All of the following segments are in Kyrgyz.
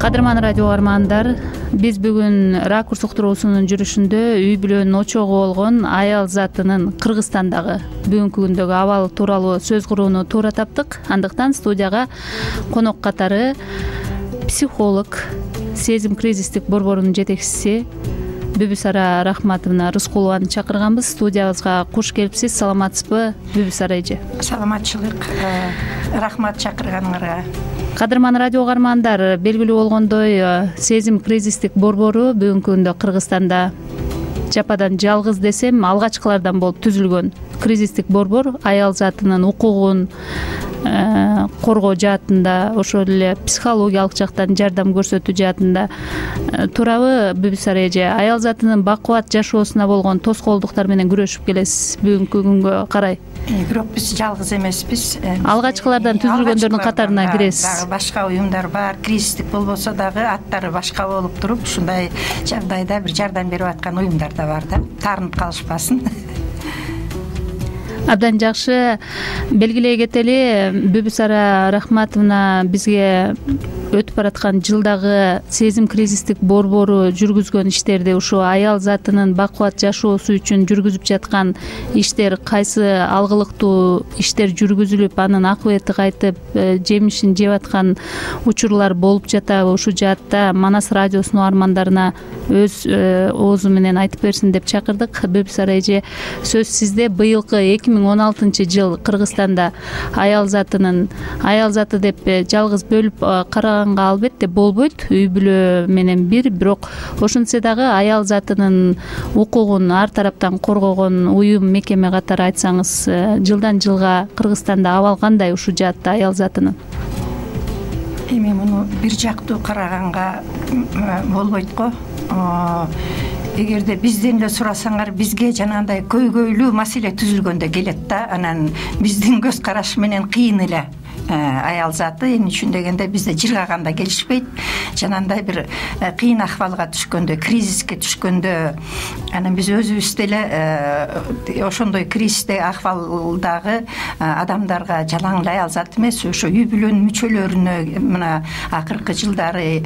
Кадырман радио угармандар, биз бүгүн Ракурс уктуруусунун жүрүшүндө үй бүлөнүн очогу болгон аял затынын Кыргызстандагы бүгүнкү күндөгү абалы тууралуу сөз курууну туура таптык. Андыктан студияга конок катары психолог, сезим кризистик борборунун жетекчиси Бүбүсара Рахматовна Рыскулованы чакырганбыз. Студиябызга куш келипсиз. Саламатсызбы, Бүбүсара эже? Саламатчылык. Рахмат чакырганыңарга. Кадырман радио угармандар, белгилүү болгондой, сезим кризистик борбору бүгүнкү күндө Кыргызстанда жападан жалгыз десем алгачкылардан болуп түзүлгөн кризистик борбор аял затынын укугун коргоо жаатында, ошол эле психологиялык жактан жардам көрсөтүү жаатында. Туурабы, Бүбүсара эже? Аял затынын бакубат жашоосуна болгон тоскоолдуктар менен күрөшүп келесиз бүгүнкү күнгө карай. Бирок биз жалгыз эмеспиз. Алгачкылардан түзүлгөндөрдүн катарына киресиз. Дагы башка уюмдар бар, кризистик болбосо дагы аттары башка болуп туруп, ушундай жагдайда бир жардам берип аткан уюмдар да бар да. Таарынып калышпасын. Абдан жакшы. Белгилей кетели, Бүбүсара Рахматовна бизге өтүп бараткан жылдагы сезим кризистик борбору жүргүзгөн иштерди, ушу аял затынын бакубат жашоосу үчүн жүргүзүп жаткан иштер, кайсы алгылыктуу иштер жүргүзүлүп, анын акыбети кайтып, жемишин жеп аткан учурлар болуп жатабы? Ушул жаатта Манас радиосунун угармандарына өз оозу менен айтып берсин деп чакырдык. Бүбүсара эже, сөз сизде. Быйылкы 2016 Кыргызстанда аял заты деп жалгыз бөлүп караганга албетте болбойт, үй бүлө менен бирок ошентсе дагы аял затынын укугун ар тараптан коргогон уюм, мекеме катары айтсаңыз, жылдан жылга Кыргызстанда абал кандай ушул жаатта аял затынын? Эми муну бир жактуу караганга болбойт го. Эгерде бизден эле сурасаңар, бизге жанагындай көйгөйлүү маселе түзүлгөндө келет да, анан биздин көз караш менен кыйын эле аял заты. Эмне үчүн дегенде, бизде жыргаганда келишпейт. Жанагындай бир кыйын акыбалга түшкөндө, кризиске түшкөндө, анан биз өзүбүз деле ошондой кризистик акыбалдагы адамдарга жалаң аял зат эмес, ошо үй бүлөнүн мүчөлөрүнө мына акыркы жылдары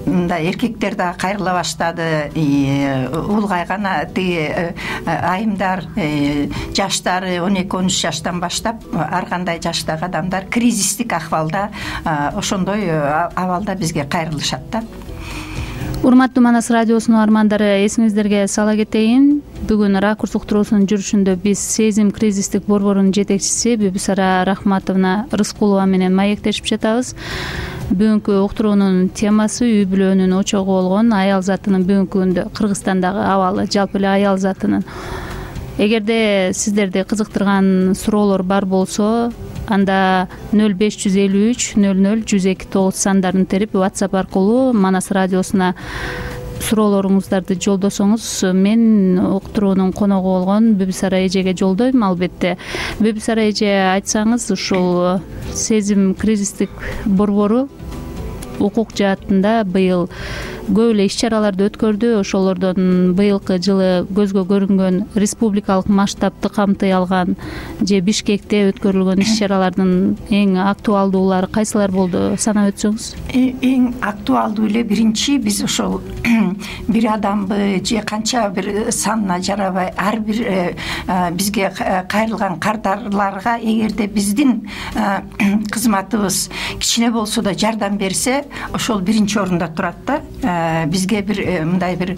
мындай эркектер дагы кайрыла баштады. Улгайган айымдар, жаштары 12-13 жаштан баштап ар кандай жаштагы адамдар кризистик акыбалда, ошондой абалда бизге кайрылышат да. Урматтуу Манас радиосунун угармандары, эсиңиздерге сала кетейин, бүгүн Ракурс уктуруусунун жүрүшүндө биз сезим кризистик борборунун жетекчиси Бүбүсара Рахматовна Рыскулова менен маектешип жатабыз. Бүгүнкү уктуруунун темасы үй бүлөнүн очогу болгон аял затынын бүгүнкү күндө Кыргызстандагы абалы, жалпы эле аял затынын. Эгерде сиздерди кызыктырган суроолор бар болсо, анда 0553 00 102 сандарын терип WhatsApp аркылуу Манас радиосуна суроолоруңуздарды жолдосоңуз, мен уктуруунун коногу болгон Бүбүсара эжеге жолдойм албетте. Бүбүсара эже, айтсаңыз, ушул сезим кризистик борбору укук жаатында быйыл көп эле иш-чараларды өткөрдү. Ошолордон быйылкы жылы көзгө көрүнгөн республикалык масштабты камтый алган же Бишкекте өткөрүлгөн иш-чаралардын эң актуалдуулары кайсылар болду, санап өтсөңүз? Эң актуалдуу эле биринчи, биз ошол бир адамбы же канча бир санына жарабай ар бир бизге кайрылган кардарларга эгерде биздин кызматыбыз кичине болсо да жардам берсе, ошол биринчи орунда турат да. Бизге бир мындай бир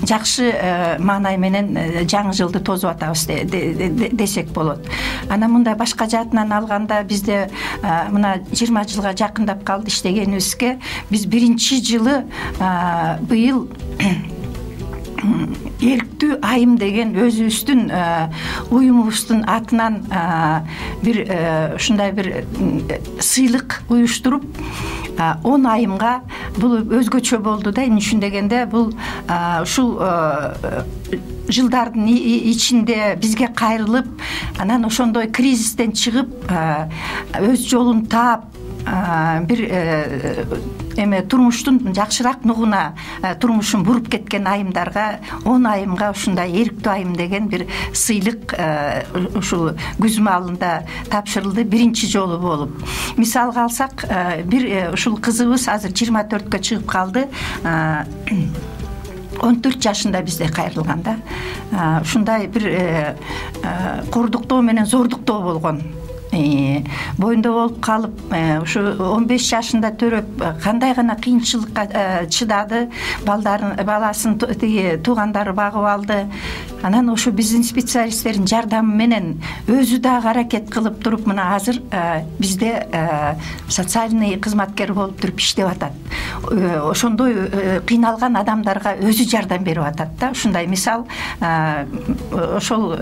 жакшы маанай менен жаңы жылды тосуп атабыз десек болот. Анан мындай башка жаатынан алганда, бизде мына 20 жылга жакындап калды иштегенибизге. Биз биринчи жылы быйыл эрктүү айым деген өзүбүздүн уюмубуздун атынан бир ушундай бир сыйлык уюштуруп 10 айымга, бул өзгөчө болду да. Эмне үчүн дегенде, бул ушул жылдардын ичинде бизге кайрылып, анан ошондой кризистен чыгып, өз жолун таап, бир эме турмуштун жакшыраак нугуна турмушун буруп кеткен айымдарга 10 айымга ушундай эрктүү айым деген бир сыйлык ушул күз маалында тапшырылды, биринчи жолу болуп. Мисалга алсак, бир ушул кызыбыз азыр 24кө чыгып калды. 14 жашында бизде кайрылган да. Ушундай бир кордуктоо менен зордуктоо болгон. Боюнда болуп калып, ушу 15 жашында төрөп кандай гана кыйынчылыкка чыдады, баласын туугандары багып алды. Анан ошо биздин специалисттердин жардамы менен өзү дагы аракет кылып туруп, мына азыр бизде социальный кызматкер болуп туруп иштеп атат. Ошондой кыйналган адамдарга өзү жардам берип атат да. Ушундай мисал, ошол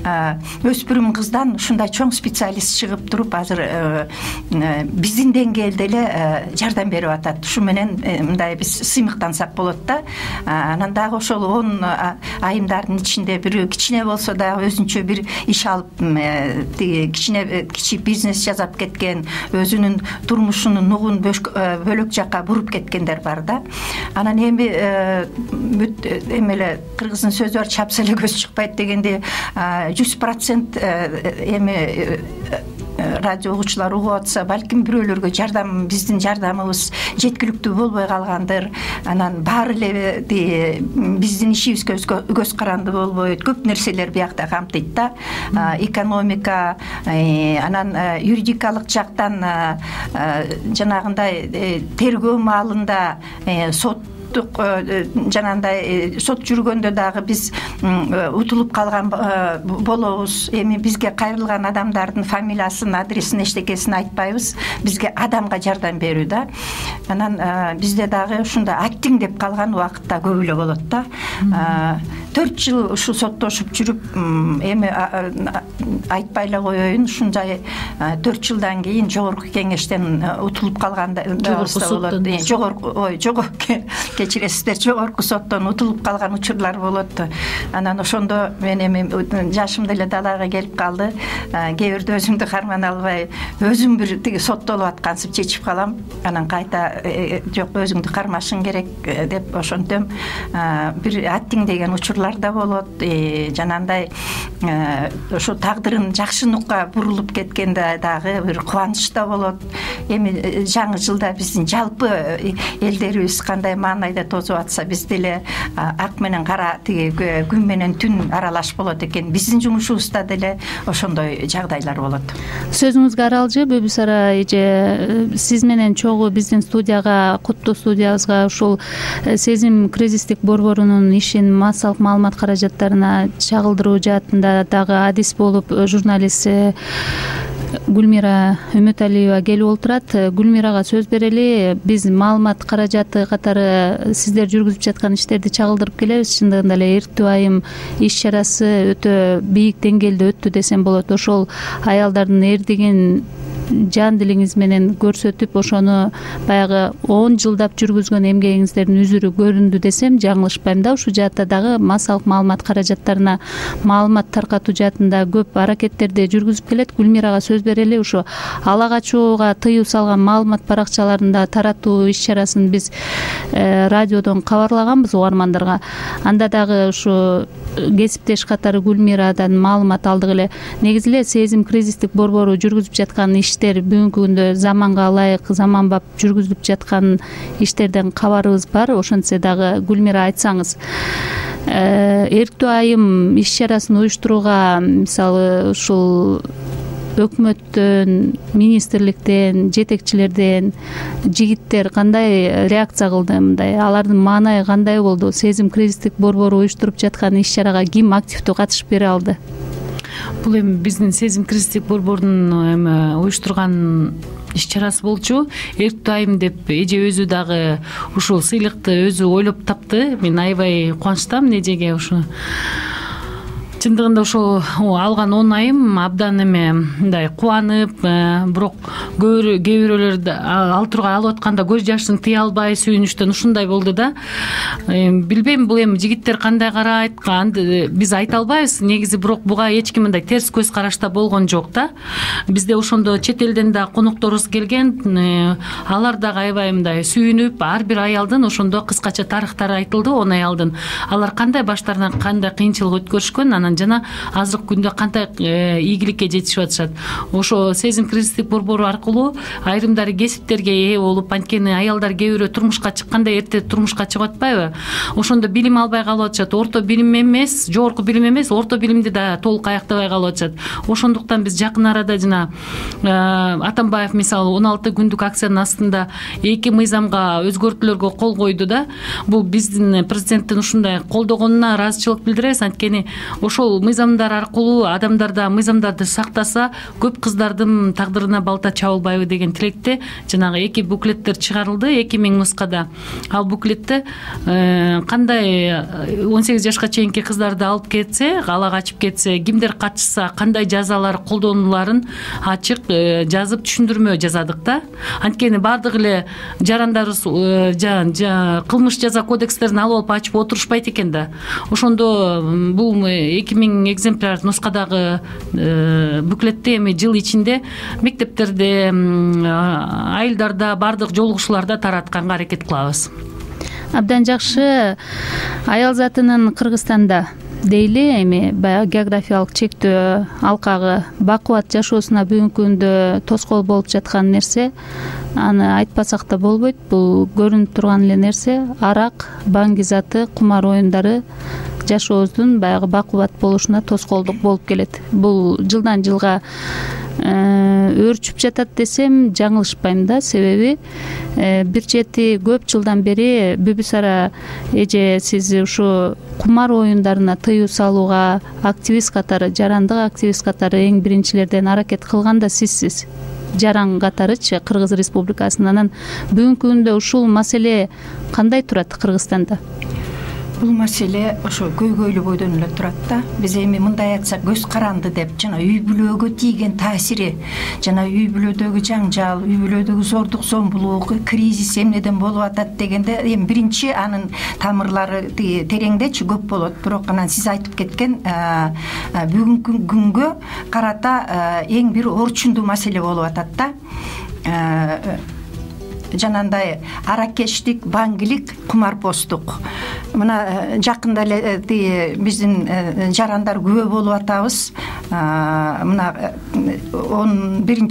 өспүрүм кыздан ушундай чоң специалист чыгып туруп азыр биздин деңгээлде эле жардам берип атат. Ушу менен мындай биз сыймыктансак болот да. Анан дагы ошол 10 айымдардын ичинде бирөө кичине болсо дагы өзүнчө бир иш алып, кичи бизнес жасап кеткен, өзүнүн турмушунун нугун бөлөк жакка буруп кеткендер бар да. Анан эми эмеле кыргыздын сөзү бар, чапса эле көз чыкпайт дегенде 100% эми радио угуучулар угуп атса, балким бирөөлөргө биздин жардамыбыз жеткиликтүү болбой калгандыр. Анан баары эле биздин ишибизге көз каранды болбойт. Көп нерселер биякта камтыйт да. Экономика, анан юридикалык жактан жанагындай тергөө маалында жанагындай сот жүргөндө дагы биз утулуп калган болобуз. Эми бизге кайрылган адамдардын фамилиясын, адресин, эчтекесин айтпайбыз. Бизге адамга жардам берүү да. Анан бизде дагы ушундай аттиң деп калган убакытта көп эле болот да. 4 жыл ушу соттошуп жүрүп, эми айтпай эле коеюн, ушундай 4 жылдан кийин жогорку кеңештен утулуп калганда болот. Жогорку кечиресиздер, жогорку соттон утулуп калган учурлар болот. Анан ошондо мен эми жашым деле далага келип калды. Кээ бирде өзүмдү карман албай, өзүм бир тиги соттолуп аткансып чечип калам. Анан кайта жок, өзүңдү кармашың керек деп ошентем. Бир аттиң деген учурлар да болот. Жанагындай ошо тагдырын жакшы нукка бурулуп кеткенде дагы бир кубаныч да болот. Эми жаңы жылда биздин жалпы элдерибиз кандай маанайда тосуп атса, биз деле ак менен кара, тиги күн менен түн аралаш болот экен. Биздин жумушубузда деле ошондой жагдайлар болот. Сөзүңүзгө аралжы Бөбүсара эже, сиз менен чогуу биздин студияга, Куттуу студиябызга ушул Сезим кризистик борборунун ишин массалык маалымат каражаттарына чагылдыруу жаатында дагы адис болуп журналист Гүлмира Үмөталиева келип отурат. Гүлмирага сөз берели. Биз маалымат каражаты катары сиздер жүргүзүп жаткан иштерди чагылдырып келебиз. Чындыгында эле эрктүү айым иш чарасы өтө бийик деңгээлде өттү десем болот. Ошол аялдардын эрдигин жан дилиңиз менен көрсөтүп, ошону баягы 10 жылдап жүргүзгөн эмгегиңиздердин үзүрү көрүндү десем жаңылышпайм да. Ушул жаатта дагы массалык маалымат каражаттарына маалымат таркатуу жаатында көп аракеттерди жүргүзүп келет. Гүлмирага сөз берели. Ушу ала качууга тыюу салган маалымат баракчаларында таратуу иш чарасын биз радиодон кабарлаганбыз угармандарга. Анда дагы ушу кесиптеш катары Гүлмирадан маалымат алдык эле. Негизи эле Сезим кризистик борбору жүргүзүп жаткан иштер бүгүнкү күндө заманга ылайык, заманбап жүргүзүлүп жаткан иштерден кабарыбыз бар. Ошентсе дагы Гүлмира айтсаңыз, эрктүү айым иш чарасын уюштурууга мисалы ушул өкмөттөн, министрликтен, жетекчилерден жигиттер кандай реакция кылды? Мындай алардын маанайы кандай болду? Сезим кризистик борбору уюштуруп жаткан иш чарага ким активдүү катышып бере алды? Бул эми биздин Сезим кризистик борборунун эми уюштурган иш чарасы болчу. Эрктүү айым деп эже өзү дагы ушул сыйлыкты өзү ойлоп тапты. Мен аябай кубанычтамын эжеге. Ушу чындыгында ошол алган 10 айым абдан эме мындай кубанып, бирок кээ бирөөлөр ал тургай алып атканда көз жашын тыя албай сүйүнүчтөн ушундай болду да. Билбейм бул эми жигиттер кандай карайт, биз айта албайбыз негизи, бирок буга эч ким мындай терс көз карашта болгон жок да. Бизде ошондо чет элден да конокторубуз келген, алар дагы аябай мындай сүйүнүп, ар бир аялдын ошондо кыскача тарыхтары айтылды, 10 аялдын. Алар кандай баштарынан кандай кыйынчылык өткөрүшкөн, анан жана азыркы күндө кандай ийгиликке жетишип атышат. Ошо сезим кризистик борбору аркылуу айрымдары кесиптерге ээ болуп, анткени аялдар кээ бирөө турмушка чыкканда эрте турмушка чыгып атпайбы? Ошондо билим албай калып атышат. Орто билим эмес, жогорку билим эмес, орто билимди да толук аяктабай калып атышат. Ошондуктан биз жакын арада жана Атамбаев мисалы 16 күндүк акциянын астында 2 мыйзамга өзгөртүүлөргө кол койду да. Бул биздин президенттин ушундай колдогонуна ыраазычылык билдиребиз. Анткени ошол мыйзамдар аркылуу адамдар да мыйзамдарды сактаса, көп кыздардын тагдырына балта чабылбайбы деген тилекте жанагы 2 буклеттер чыгарылды, 2000 нускада. Ал буклетте кандай 18 жашка чейинки кыздарды алып кетсе, ала качып кетсе, кимдер катышса, кандай жазалар колдонуларын ачык жазып түшүндүрмө жазадык да. Анткени бардык эле жарандарыбыз кылмыш жаза кодекстерин алып алып ачып отурушпайт экен да. Ошондо бул 2000 экземпляр нускадагы буклетти эми жыл ичинде мектептерде, айылдарда, бардык жолугушууларда таратканга аракет кылабыз. Абдан жакшы. Аял затынын Кыргызстанда дейли эми баягы географиялык чектөө, алкагы бакубат жашоосуна бүгүнкү күндө тоскоол болуп жаткан нерсе, аны айтпасак да болбойт. Бул көрүнүп турган эле нерсе. Арак, баңги заты, кумар оюндары жашообуздун баягы бакубат болушуна тоскоолдук болуп келет. Бул жылдан жылга өөрчүп жатат десем жаңылышпайм да. Себеби бир чети көп жылдан бери Бүбүсара эже сиз ушу кумар оюндарына тыюу салууга активист катары, жарандык активист катары эң биринчилерден аракет кылган да сизсиз. Жаран катарычы Кыргыз Республикасынын. Бүгүнкү күндө ушул маселе кандай турат Кыргызстанда? Бул маселе ошо көйгөйлүү бойдон эле турат да. Биз эми мындай айтсак, көз каранды деп, жана үй бүлөгө тийген таасири, жана үй бүлөдөгү жаңжал, үй бүлөдөгү зордук зомбулук, кризис эмнеден болуп атат дегенде, эми биринчи анын тамырлары тереңдечи көп болот. Бирок анан сиз айтып кеткен бүгүнкү күнгө карата эң бир орчундуу маселе болуп атат да. Жанандай аракештик, баңгилик, кумарпоздук. Мына жакында эле биздин жарандар күбө болуп атабыз. Мына 11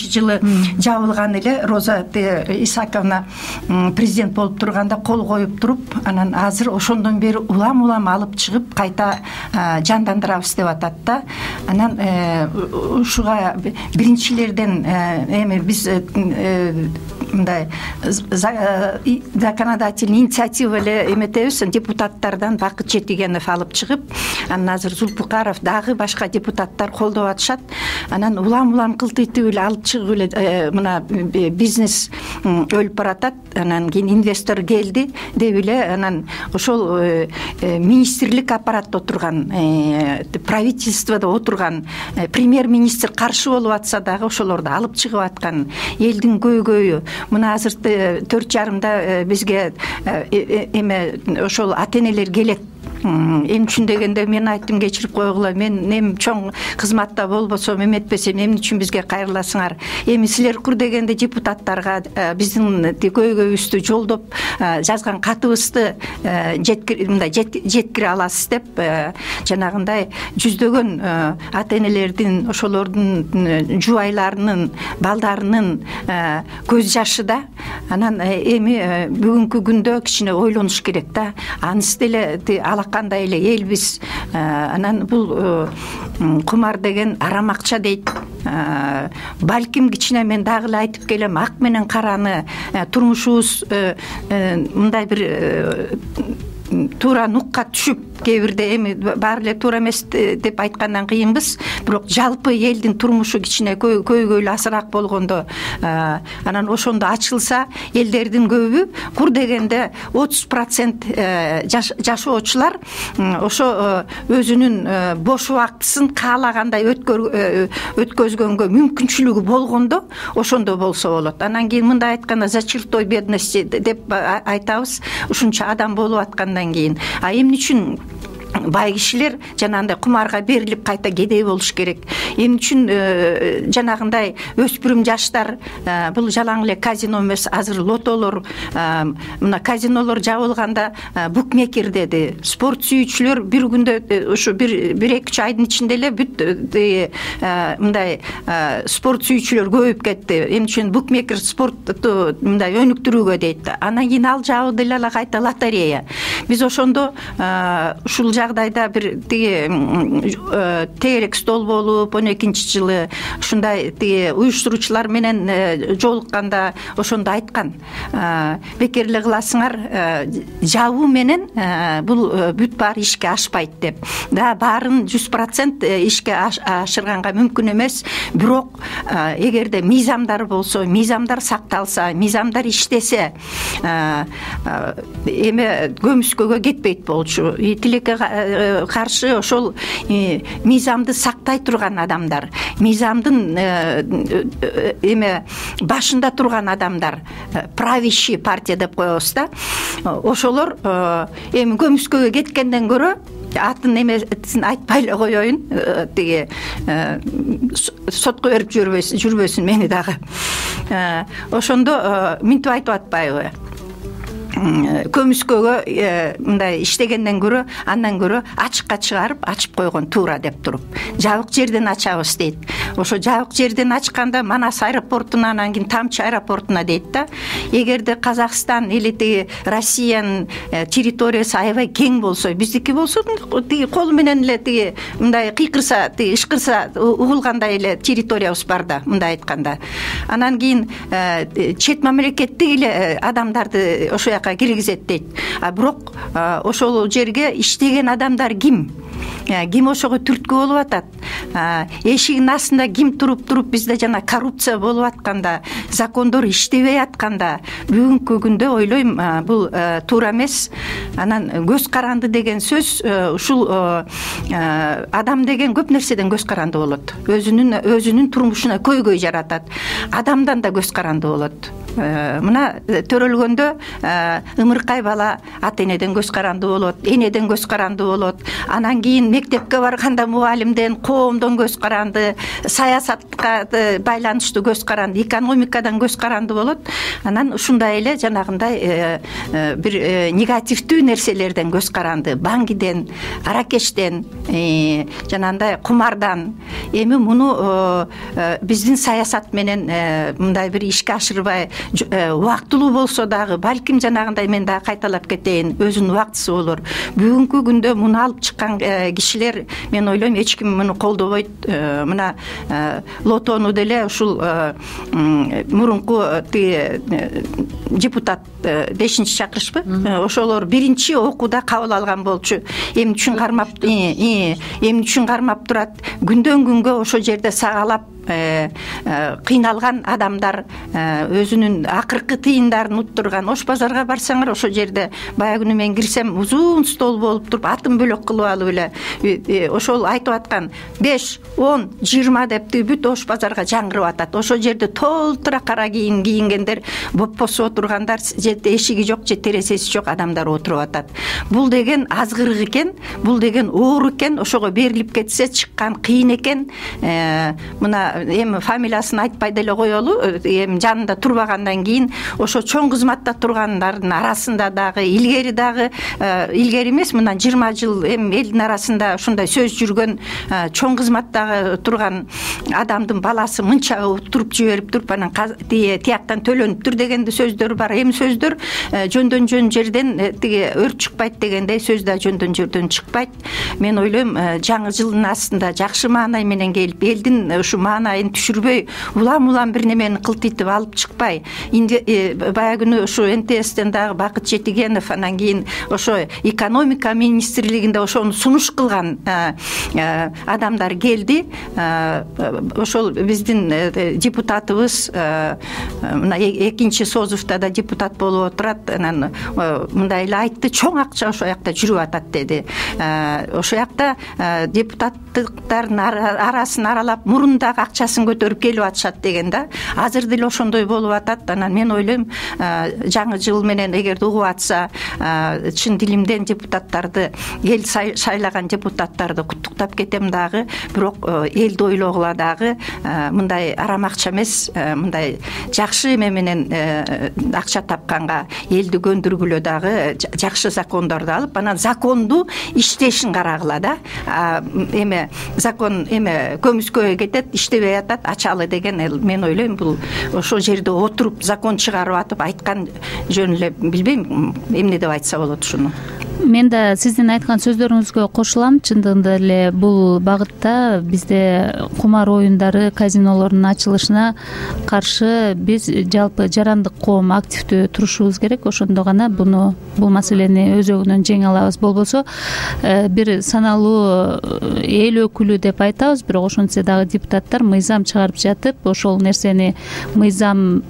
жылы жабылган эле Роза Исаковна президент болуп турганда кол коюп туруп, анан азыр ошондон бери улам алып чыгып кайта жандандырабыз деп атат да. Анан ушуга биринчилерден эми биз мындай законодательный инициатива эле эметебиз, депутаттардан Бакыт Четигенов алып чыгып, анан азыр Зулпукаров дагы башка депутаттар колдоп атышат. Анан улам кылтыйтып эле алып чыгып эле мына бизнес өлүп баратат. Анан кийин инвестор келди деп эле, анан ошол министрлик аппаратта отурган, правительстводо отурган премьер-министр каршы болуп атса дагы ошолорду алып чыгып аткан элдин көйгөйү. Мына азыр 4,5 бизге эме ошол ата-энелер келет. Эми үчүн дегенде мен айттым, кечирип койгула, мен эми чоң кызматта болбосом, эметпесем эмне үчүн бизге кайрыласыңар? Эми силер кур дегенде депутаттарга биздин көйгөйүбүздү жолдоп жазган катыбызды жеткире аласыз деп, жанагындай жүздөгөн ата-энелердин, ошолордун жубайларынын, балдарынын көз жашы да. Анан эми бүгүнкү күндө кичине ойлонуш керек да. Анысы деле алакандай эле элбиз. Анан бул кумар деген арам акча дейт. Балким кичине мен дагы эле айтып келем, ак менен караны турмушубуз мындай бир туура нукка түшүп кээ бирде эми баары эле туура эмес деп айткандан кыйынбыз, бирок жалпы элдин турмушу кичине көйгөйлүү азыраак болгондо, анан ошондо ачылса элдердин көбү кур дегенде 30% жашоочулар ошо өзүнүн бош убактысын каалагандай өткөзгөнгө мүмкүнчүлүгү болгондо ошондо болсо болот. Анан кийин мындай айтканда за чертой бедности деп айтабыз, ушунча адам болуп аткандан кийин. Эмне үчүн бай кишилер жанагындай кумарга берилип кайта кедей болуш керек? Эмне үчүн жанагындай өспүрүм жаштар бул жалаң эле казино эмес, азыр лотолор, мына казинолор жабылганда букмекер деди. Спорт сүйүүчүлөр бир күндө ушу 1-2 айдын ичинде эле бүт мындай спорт сүйүүчүлөр көбөйүп кетти. Эмне үчүн букмекер спортту мындай өнүктүрүүгө дейт. Анан кийин ал жабылды эле кайта лотерея. Биз ошондо ушул жагдайда бир тегерек стол болуп 12-чи жылы ушундай уюштуруучулар менен жолукканда ошондо айткан, бекер эле кыласыңар, жабуу менен бул бүт баары ишке ашпайт деп. Да баарын 100% ишке ашырганга мүмкүн эмес, бирок эгерде мыйзамдар болсо, мыйзамдар сакталса, мыйзамдар иштесе, эме көмүскөгө кетпейт болчу. Тилекке каршы ошол мыйзамды сактай турган адамдар, мыйзамдын эме башында турган адамдар, правящий партия деп коебуз да, ошолор эми көмүскөгө кеткенден көрө атын эмесин айтпай эле коеюн, тиги сотко берип жүрбөсүн мени дагы. Ошондо минтип айтып атпайбы? Көмүскөгө мындай иштегенден көрө, андан көрө ачыкка чыгарып, ачып койгон туура деп туруп, жабык жерден ачабыз дейт. Ошо жабык жерден ачканда Манас аэропортуна, анан кийин Тамчы аэропортуна дейт да. Эгерде Казакстан или тиги Россиянын территориясы аябай кең болсо, биздики болсо, тиги колу менен эле тиги мындай кыйкырса, тиги ышкырса угулгандай эле территориябыз бар да, мындай айтканда. Анан кийин чет мамлекеттик эле адамдарды ошо киргизет дейт. Бирок ошол жерге иштеген адамдар ким? Ким ошого түрткү болуп атат? Эшигинин астында ким туруп бизде жана коррупция болуп атканда, закондор иштебей атканда, бүгүнкү күндө ойлойм бул туура эмес. Анан көз каранды деген сөз, ушул адам деген көп нерседен көз каранды болот. Өзүнүн турмушуна көйгөй жаратат. Адамдан да көз каранды болот. Мына төрөлгөндө ымыркай бала ата энеден көз каранды болот, энеден көз каранды болот. Анан кийин мектепке барганда мугалимден, коомдон көз каранды, саясатка байланыштуу көз каранды, экономикадан көз каранды болот. Анан ушундай эле жанагындай бир негативдүү нерселерден көз каранды, баңгиден, аракештен, жанагындай кумардан. Эми муну биздин саясат менен мындай бир ишке ашырбай, убактылуу болсо дагы, балким жанагындай мен дагы кайталап кетейин, өзүнүн убактысы болор. Бүгүнкү күндө муну алып чыккан кишилер, мен ойлойм, эч ким муну колдобойт. Мына лотону деле ушул мурунку депутат 5-чи чакырышпы? Ошолор биринчи окууда кабыл алган болчу. Эмне үчүн кармап турат? Күндөн күнгө ошол жерде сагалап кыйналган адамдар, өзүнүн акыркы тыйындарын уттурган. Ош базарга барсаңар, ошол жерде баягы күнү мен кирсем, узун стол болуп туруп, атын бөлөк кылып алып эле ошол айтып аткан 5, 10, 20 деп бүт Ош базарга жаңгырып атат. Ошол жерде толтура кара кийингендер, боппосуп отургандар, же эшиги жок, же терезеси жок адамдар отуруп атат. Бул деген азгырык экен, бул деген оор экен. Ошого берилип кетсе чыккан кыйын экен. Мына эми фамилиясын айтпай деле коелу, эми жанында турбагандан кийин ошо чоң кызматта тургандардын арасында дагы, илгери эмес, мындан 20 жыл эми элдин арасында ушундай сөз жүргөн, чоң кызматтагы турган адамдын баласы мынча туруп жиберип туруп анан тияктан төлөнүптүр деген сөздөр бар. Эми сөздөр жөндөн жөн жерден тиги өрт чыкпайт дегендей сөз да жөндөн жерден чыкпайт. Мен ойлойм жаңы жылдын астында жакшы маанай менен келип, элдин ушу маанайын түшүрбөй, улам бир немени кылтыйтып алып чыкпай, баягы күнү ушу НТСтен дагы Бакыт Жетигенов, анан кийин ошо экономика министрлигинде ошону сунуш кылган адамдар келди. Ошол биздин депутатыбыз мына экинчи созувда да депутат болуп отурат. Анан мындай эле айтты: чоң акча ошол жакта жүрүп атат деди. Ошол жакта депутаттыктардын арасын аралап мурундагы акчасын көтөрүп келип атышат деген да. Азыр деле ошондой болуп атат. Анан мен ойлойм, жаңы жыл менен эгерде угуп атса, чын дилимден депутаттарды, эл шайлаган депутаттарды куттуктап кетем дагы. Бирок элди ойлогула дагы мындай арам акча эмес, мындай жакшы эме менен акча тапканга элди көндүргүлө дагы жакшы закондорду алып, анан законду иштешин карагыла да. Эме закон эме көмүскөгө кетет, иштебей атат, ачалы деген мен ойлойм, бул ошол жерде отуруп закон чыгарып атып айткан жөн эле. Билбейм эмне деп айтса болот ушуну. Мен да сиздин айткан сөздөрүңүзгө кошулам. Чындыгында эле бул багытта бизде кумар оюндары, казинолордун ачылышына каршы биз жалпы жарандык коом активдүү турушубуз керек. Ошондо гана бул маселени өзөгүнөн жеңе алабыз. Болбосо бир саналуу эл өкүлү деп айтабыз, бирок ошентсе дагы депутаттар мыйзам чыгарып жатып, ошол нерсени мыйзам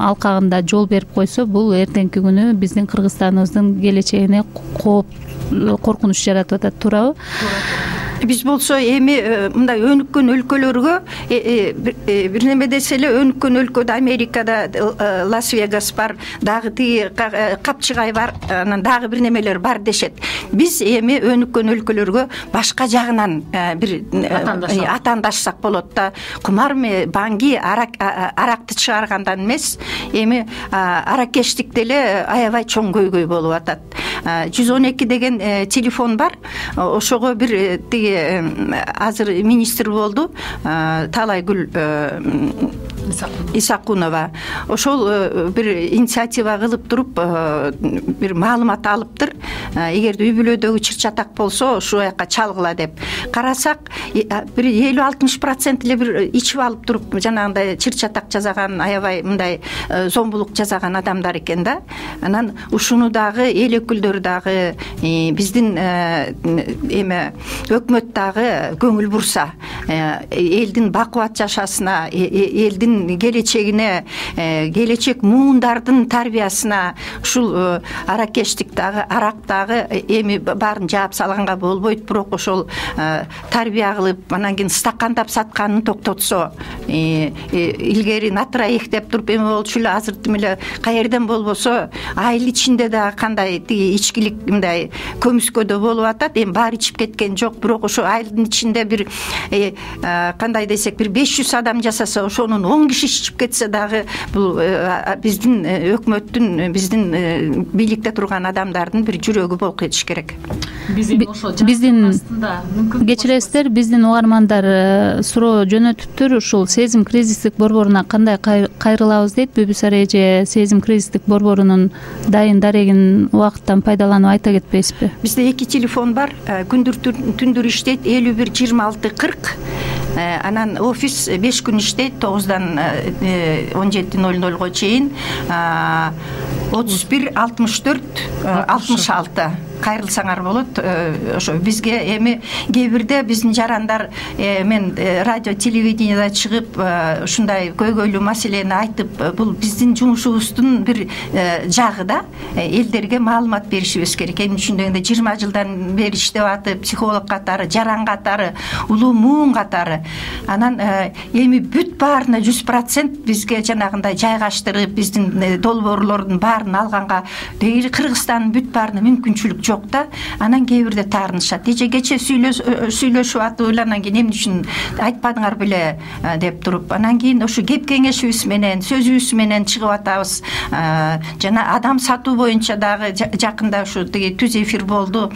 алкагында жол берип койсо, бул эртеңки күнү биздин Кыргызстаныбыздын келечегине коркунуч жаратып атат. Туурабы? Биз болсо эми мындай өнүккөн өлкөлөргө бир неме десе эле, өнүккөн өлкөдө Америкада Лас-Вегас бар, дагы тиги Капчыгай бар, анан дагы бир немелер бар дешет. Биз эми өнүккөн өлкөлөргө башка жагынан бир атаандашсак болот да. Кумар банги аракты чыгаргандан эмес, эми аракештик деле аябай чоң көйгөй болуп атат. 112 деген телефон бар. Ошого бир тиги азыр министр болду, Талайгүл Исакунова. Ошол бир инициатива кылып туруп бир маалымат алыптыр. Эгерде үй бүлөдөгү чыр-чатак болсо ушул жака чалгыла деп. Карасак, бир 50-60% эле бир ичип алып туруп жанагындай чыр-чатак жасаган, аябай мындай зомбулук жасаган адамдар экен да. Анан ушуну дагы эл өкүлдөрү дагы, биздин эме өкмөт дагы көңүл бурса, элдин бакубат жашасына, элдин келечегине, келечек муундардын тарбиясына ушул аракештик дагы, арак дагы эми баарын жаап салганга болбойт, бирок ошол тарбия кылып, анан кийин стакандап сатканын токтотсо, илгери на троих деп туруп эме болчу эле, азыр эле каерден болбосо айыл ичинде дагы кандай тиги ичкилик мындай көмүскөдө болуп атат. Эми баары ичип кеткен жок, бирок ошо айылдын ичинде бир кандай десек, бир 500 адам жасаса, ошонун 10 киши ичип кетсе дагы, бул биздин өкмөттүн, биздин бийликте турган адамдардын бир жүрөгү болуп кетиш керек. Биздин кечиресиздер, биздин угармандар суроо жөнөтүптүр. Ушул сезим кризистик борборуна кандай кайрылабыз дейт. Бүбүсар эже сезим кризистик борборунун дайын дарегин убакыттан пайдаланып айта кетпейсизби? Бизде 2 телефон бар. Күндүр түндүр иштейт, 51 26 40. Анан офис 5 күн иштейт, 9-дан 17:00 чейин. 31 64 66 кайрылсаңар болот. Ошо бизге эми кээ бирде биздин жарандар мен радио телевидениеда чыгып ушундай көйгөйлүү маселени айтып, бул биздин жумушубуздун бир жагы да, элдерге маалымат беришибиз керек. Эми түшүндөгөндө 20 жылдан бери иштеп атып, психолог катары, жаран катары, улуу муун катары. Анан эми бүт баарына 100% бизге жанагындай жайгаштырып, биздин долбоорлордун баарын алганга Кыргызстандын бүт баарына мүмкүнчүлүк жок да. Анан кээ бирде таарынышат. Кече сүйлөшүп атып, анан кийин эмне үчүн айтпадыңар беле, деп туруп, анан кийин ушу кеп кеңешибиз менен, сөзүбүз менен чыгып атабыз. Жана адам сатуу боюнча дагы жакында ушу тиги түз эфир болду.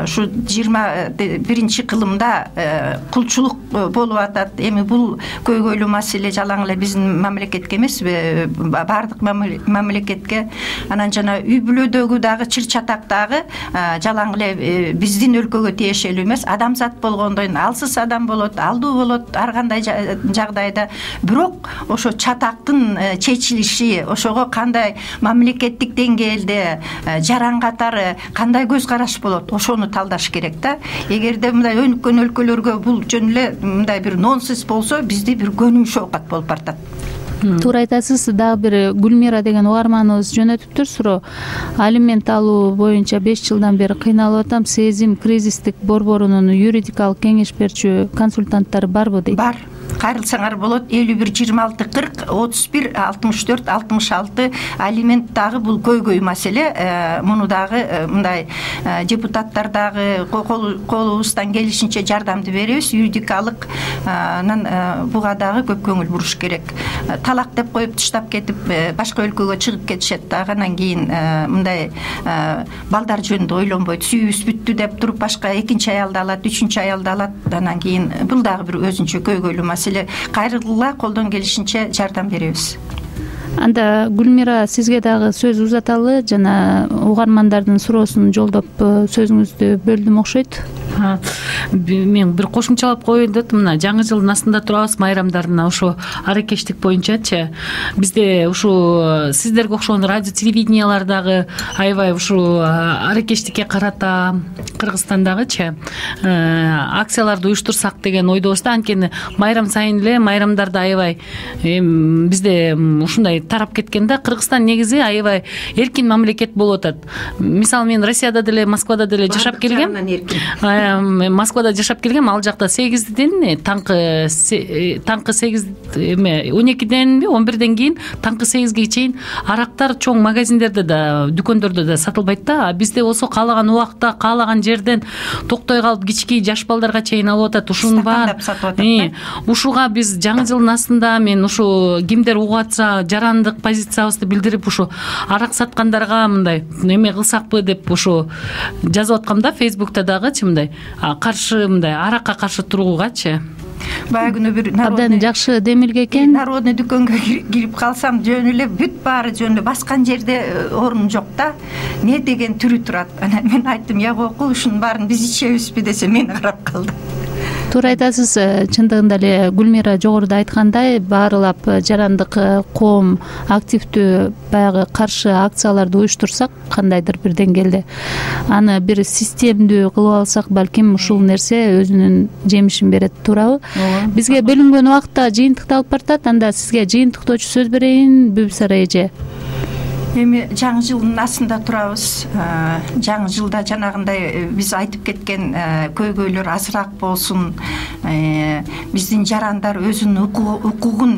Ушу 21 кылымда кулчулук болуп атат. Эми бул көйгөйлүү маселе жалаң эле биздин мамлекетке эмеспи, баардык мамлекетке. Анан жана үй бүлөдөгү дагы чыр чатак дагы жалаң эле биздин өлкөгө тиешелүү эмес. Адамзат болгондон кийин алсыз адам болот, алдуу болот ар кандай жагдайда. Бирок ошо чатактын чечилиши, ошого кандай мамлекеттик деңгээлде жаран катары кандай көз караш болот, ошону талдаш керек да. Эгерде мындай өнүккөн өлкөлөргө бул жөн эле мындай бир нонсенс болсо, бизде бир көнүмүш оокат болуп баратат. Туура айтасыз. Дагы бир Гүлмира деген угарманыбыз жөнөтүптүр суроо. Алимент алуу боюнча 5 жылдан бери кыйналып атам. Сезим кризистик борборунун юридикалык кеңеш берчү консультанттары барбы дейт? Бар. Кайрылсаңар болот. 51 26 40 31 64 66. Алимент дагы бул көйгөй маселе. Муну дагы мындай депутаттар дагы колубуздан келишинче жардамды беребиз. Юридикалык буга дагы көп көңүл буруш керек. Талак деп коюп таштап кетип башка өлкөгө чыгып кетишет дагы. Анан кийин мындай балдар жөнүндө ойлонбойт. Сүйүүбүз бүттү деп туруп башка экинчи аялды алат, үчүнчү аялды алат. Анан кийин бул дагы бир өзүнчө көйгөйлүү маселе. Кайрылгыла колдон келишинче жардам беребиз. Анда Гүлмира, сизге дагы сөз узаталы. Жана угармандардын суроосун жолдоп сөзүңүздү бөлдүм окшойт. Мен бир кошумчалап коеюн деп, мына жаңы жылдын астында турабыз, майрамдарына ошо аракештик боюнчачы. Бизде ушу сиздерге окшогон радио телевидениялар дагы аябай ушу аракештикке карата Кыргызстандагычы акцияларды уюштурсак деген ойдобуз да. Анткени майрам сайын эле майрамдарда аябай бизде ушундай тарап кеткен да. Кыргызстан негизи аябай эркин мамлекет болуп атат. Мисалы мен Россияда деле, Москвада деле жашап келгем. Москвада жашап келгем. Ал жакта 8ден таңкы 8 12денби 11ден кийин таңкы 8ге чейин арактар чоң магазиндерде да, дүкөндөрдө да сатылбайт да. Бизде болсо каалаган убакта, каалаган жерден токтой калып кички жаш балдарга чейин алып атат. Ушунун бар. Ушуга биз жаңы жылдын астында мен ушу кимдер угуп атса жарандык позициябызды билдирип ушу арак саткандарга мындай эме кылсакпы деп ушу жазып аткам да Facebook'та дагычы мындай каршы мындай аракка каршы туруугачы. Баягы күнү бир абдан жакшы демилге экен. Народный дүкөнгө кирип калсам жөн эле бүт баары жөн эле баскан жерде орун жок да. Не деген түрү турат. Анан мен айттым, я окуу ушунун баарын биз ичебизби десе мени карап калды. Туура айтасыз. Чындыгында эле Гүлмира жогоруда айткандай, баарлап жарандык коом активдүү баягы каршы акцияларды уюштурсак, кандайдыр бир деңгээлде аны бир системдүү кылып алсак, балким ушул нерсе өзүнүн жемишин берет. Туурабы? Бизге бөлүнгөн убакта жыйынтыкты алып баратат. Анда сизге жыйынтыктоочу сөз берейин, Бүбүсара эже. Эми жаңы жылдын астында турабыз. Жаңы жылда жанагындай биз айтып кеткен көйгөйлөр азыраак болсун. Биздин жарандар өзүнүн укугун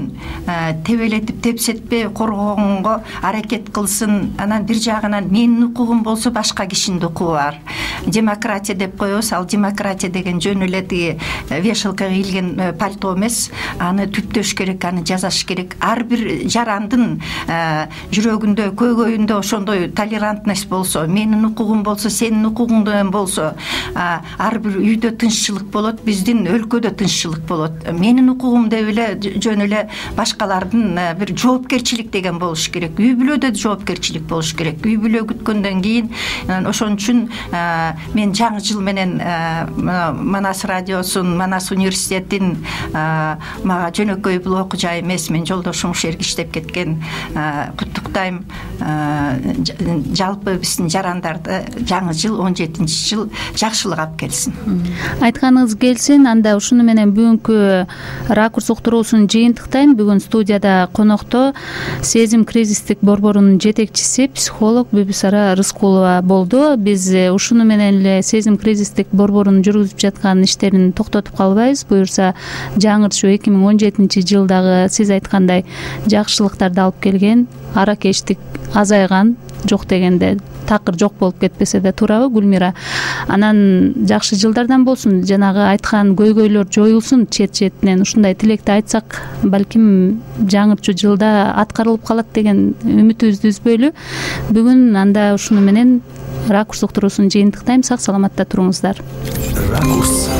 тебелетип тепсетпей коргогонго аракет кылсын. Анан бир жагынан менин укугум болсо башка кишинин укугу бар. Демократия деп коебуз. Ал демократия деген жөн эле тиги вешалкага кийилген пальто эмес. Аны түптөш керек, аны жасаш керек. Ар бир жарандын жүрөгүндө, көйгөйүндө ошондой толерантность болсо, менин укугум болсо, сенин укугуң болсо, ар бир үйдө тынччылык болот, биздин өлкөдө тынччылык болот. Менин укугум деп эле жөн эле башкалардын бир жоопкерчилик деген болуш керек. Үй бүлөдө жоопкерчилик болуш керек. Үй бүлө күткөндөн кийин ошон үчүн мен жаңы жыл менен Манас радиосун, Манас университетин мага жөнөкөй блок жай эмес, мен жолдошум ушул жерге иштеп кеткен, куттуктайм. Жалпы биздин жарандарды жаңы жыл 17-жыл жакшылык алып келсин. Айтканыңыз келсин. Анда ушуну менен бүгүнкү ракурс уктуруусун жыйынтыктайм. Бүгүн студияда конокто Сезим кризистик борборунун жетекчиси, психолог Бүбүсара Рыскулова болду. Биз ушуну менен эле Сезим кризистик борборунун жүргүзүп жаткан иштерин токтотуп калбайбыз. Буюрса жаңыртуу 2017-жылдагы сиз айткандай жакшылыктарды алып келген, аракештик азайган, жок дегенде такыр жок болуп кетпесе да туурабы Гүлмира? Анан жакшы жылдардан болсун, жанагы айткан көйгөйлөр жоюлсун чет четинен, ушундай тилекти айтсак балким жаңырчу жылда аткарылып калат деген үмүтүбүздү үзбөйлү. Бүгүн анда ушуну менен Ракурс уктуруусун жыйынтыктайм. Сак саламатта туруңуздар. Ракурс.